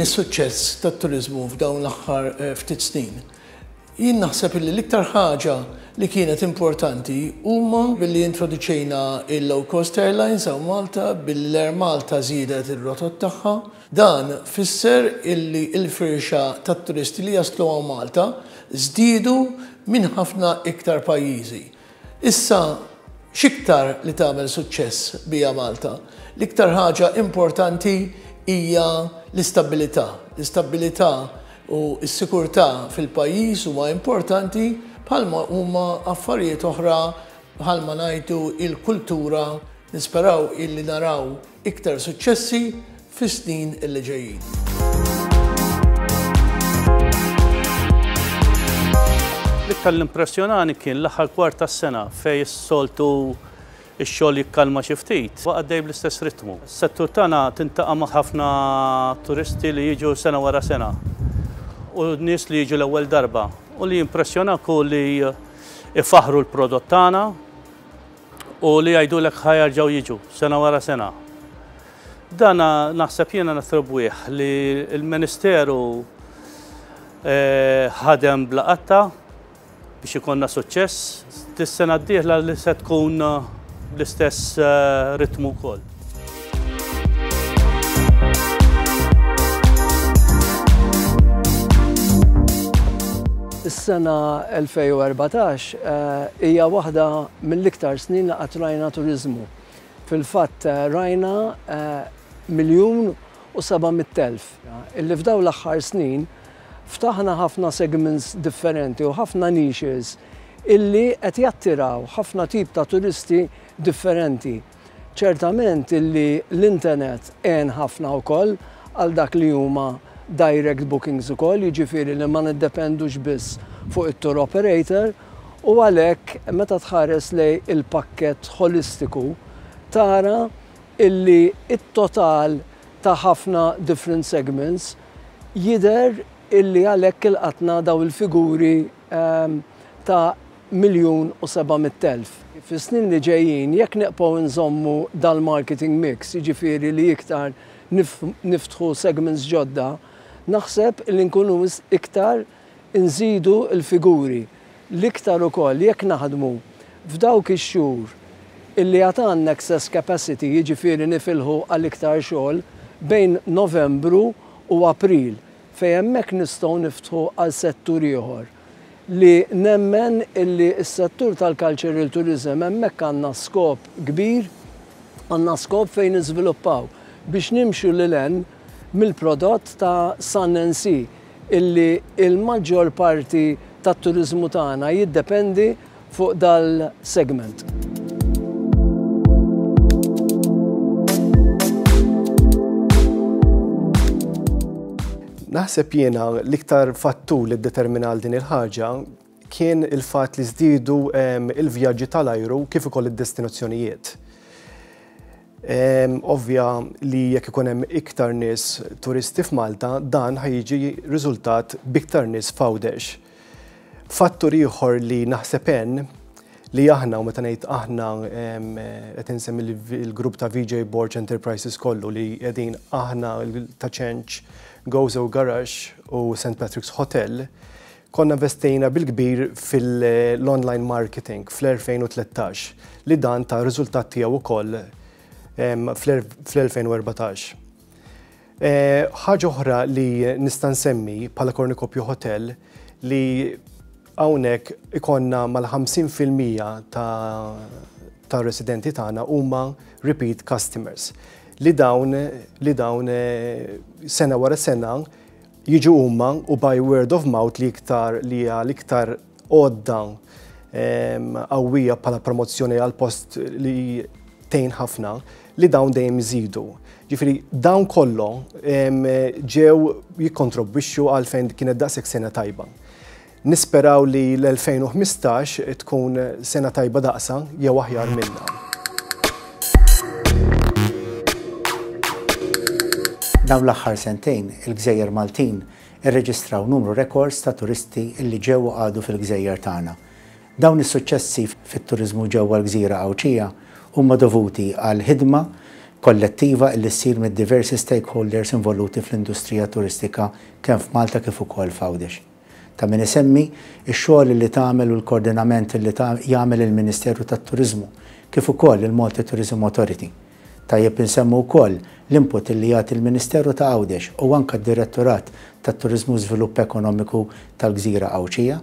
X'kien is-suċċess tat-turiżmu f'dawn l-aħħar ftit snin? Jien naħseb illi l-iktar ħaġa li kienet importanti huma billi introduċejna il-low cost airlines hawn Malta, billi l-Air Malta żiedet ir-rotot tagħha. Dan fisser illi l-firxa tat-turisti li jaslu hawn Malta żdiedu minn ħafna iktar pajjiżi. Issa x'iktar li tagħmel suċċess biha Malta? L-iktar ħaġa importanti hija l-istabbilità. L-istabbilità u s-sikurtà fil-pajjiż huma importanti bħalma huma affarijiet oħra bħalma ngħidu il-kultura nisperaw illi naraw iktar suċċessi fis-snin illi ġejjin. L-iktar li impressjonani kien l-aħħar kwart tas-sena fejn is-soltu ix-xogħol jikkalma xi ftit, baqa' għaddej bl-istess ritmu. Is-settur tagħna tintaqa' ma' ħafna turisti li jiġu sena wara sena u nies li jiġu l-ewwel darba u li jimpressjonak hu li ifaħħru l-prodott tagħna u li jgħidulek ħa jerġgħu jiġu sena wara sena. Dan naħseb jiena nattribwih li l-Ministeru ħadem bla qatta biex ikollna suċċess. Dis-sena d-dieħla li se tkun bl-istess ritmu wkoll. Is-sena 2014 hija waħda mill-iktar snin li qatt rajna turiżmu. Fil-fatt rajna 1,700,000 illi f'dawn l-aħħar snin Ftaħna ħafna segments differenti u ħafna niches illi qed jattiraw ħafna tip ta' turisti differenti. Ċertament illi l-internet għen ħafna wkoll għal dak li huma direct bookings ukoll, jiġifieri li ma niddependux biss fuq it-tour operator u għalhekk meta tħares lejn il-pakkett ħolistiku tara illi t-total ta' ħafna different segments Jidher illi għalhekk ilqatna dawn il-figuri ta' 1,700,000. Fis-snin li ġejjin jekk neqpgħu nżommu dal-marketing mix, jiġifieri li iktar niftħu segments ġodda, naħseb illi nkunu iktar inżidu l-figuri. L-iktar ukoll jekk naħdmu f'dawk ix-xhur illi għad għandna excess capacity, jiġifieri nifilħu għal iktar xogħol, bejn Novembru u April, fejn hemmhekk nistgħu niftħu għal settur ieħor li nemmen illi s-settur tal-cultural tourism hemmhekk għandna skop kbir, għandna skop fejn niżviluppaw biex nimxu lil hinn mill-prodott ta' Sun and Sea illi l-maġġor parti tat-turiżmu tagħna jiddependi fuq dal-segment. Naħseb jiena l-iktar fattur li ddetermina għal din il-ħaġa kien il-fatt li żdiedu il-vjaġġi tal-ajru kif ukoll id-destinazzjonijiet. Ovvja li jekk ikun hemm iktar nies turisti f'Malta, dan ħa jiġi riżultat b'iktar nies f'Għawdex. Fattur ieħor li naħseb għen li aħna, u meta ngħid aħna qed insemmi l-grupp ta' VJ Borg Enterprises kollu li qegħdin aħna ta' Ċenċ, Gozo Garage u St Patrick's Hotel, konna investejna bil-kbir fil-online marketing fl-2013 li dan ta riżultat tiegħu wkoll fl-2014. Ħaġa oħra li nista' nsemmi bħala Cornucopia Hotel li hawnhekk ikonna mal-50% ta' ta' residenti tagħna huma repeat customers li dawn li dawn sena wara sena jiġu huma u by word of mouth li iktar li hija l-iktar għodda qawwija bħala promozzjoni għal post li tgħin ħafna li dawn dejjem iżidu. Ġifieri dawn kollu ġew jikkontribwixxu għalfejn kienet daqshekk sena tajba. Nisperaw li l-2015 tkun sena tajba daqsha jew aħjar minnha. Dawn l-aħħar sentejn, il-gżejjer Maltin irreġistraw numru rekords ta' turisti li ġew u qagħdu fil-gżejjer tagħna. Dawn is-suċċessi fit-turiżmu ġewwa l-gżira Għawdxija huma dovuti għall-ħidma kollettiva illi ssir mid-diversi stakeholders involuti fl-industrija turistika kemm f'Malta kif ukoll f'Għawdex. Ta' min isemmi x-xogħol illi tagħmel u l-kordinament illi jagħmel il-Ministeru tat-Turiżmu kif ukoll il-Malta Tourism Authority. Tajjeb insemmu wkoll l-input illi jagħti l-Ministeru ta' Għawdex u anke d-Direttorat tat-Turiżmu u Żvilupp Ekonomiku tal-Gżira Għawdxija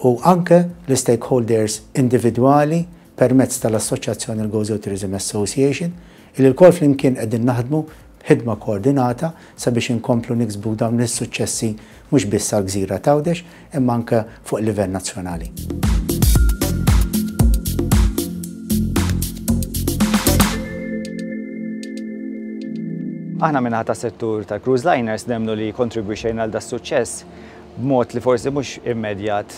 u anke l-istakeholders individwali permezz tal-Assoċjazzjoni l-Gozo Tourism Association, illi lkoll flimkien qegħdin naħdmu b'ħidma koordinata sabiex inkomplu niksbu dawn is-suċċessi mhux biss għall-gżira t'Għawdex imma anke fuq livell nazzjonali. Aħna min-naħa tas-settur tal-cruise liners nemmnu li kontribwixxejna għal das-suċċess b'mod li forsi mhux immedjat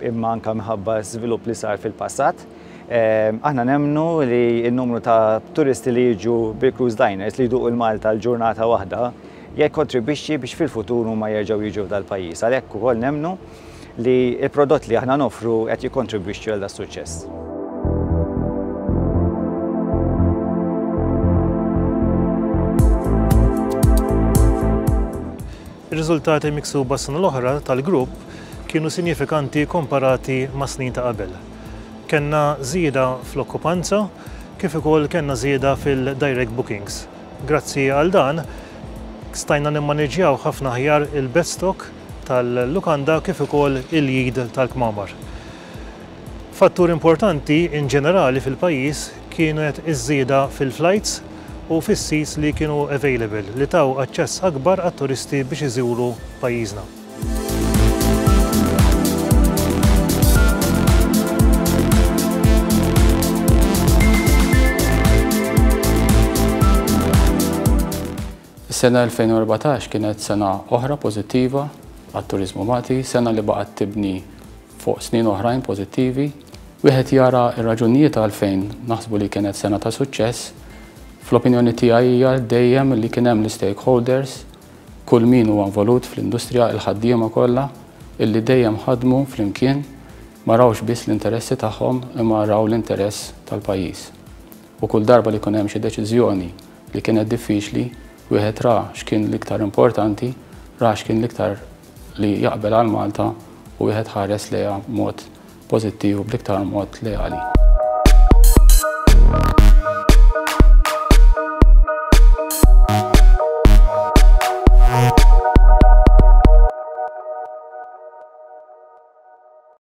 imma anke minħabba żvilupp li sar fil-passat. Aħna nemmnu li n-numru ta' turisti li jiġu bil-cruise liners li jduqu l-Malta l-ġurnata waħda jikkontribwixxi biex fil-futur huma jerġgħu jiġu f'dal-pajjiż. Għalhekk ukoll nemmnu li l-prodott li aħna noffru qed jikkontribwixxi għal das-suċċess. Ir-riżultati miksuba s-sena l-oħra tal-grupp kienu sinjifikanti komparati mas-snin ta' qabel. Kellna żieda fl-okkupanza kif ukoll kellna żieda fil-direct bookings. Grazzi għal dan, stajna nimmaniġġjaw ħafna aħjar il-bed stock tal-lukanda kif ukoll il-yield tal-kmamar. Fattur importanti in ġenerali fil-pajjiż kienet iż-żieda fil-flights u fis-seats li kienu available li taw aċċess akbar għat-turisti biex iżuru pajjiżna. Is-sena 2014 kienet sena oħra pożittiva għat-turiżmu Malti, sena li baqgħet tibni fuq snin oħrajn pożittivi. Wieħed jara r-raġunijiet għalfejn naħsbu li kienet sena ta' suċċess. Fl-opinjoni tiegħi hija dejjem li kien hemm l-istakeholders, kull min huwa involut fl-industrija, il-ħaddiema kollha, illi dejjem ħadmu flimkien, ma rawx biss l-interessi tagħhom imma raw l-interess tal-pajjiż. U kull darba li jkun hemm xi deċiżjoni li kienet diffiċli, wieħed ra x'kien l-iktar importanti, ra x'kien l-iktar li jaqbel għal Malta u wieħed ħares lejha b'mod pożittiv u bl-iktar mod leali.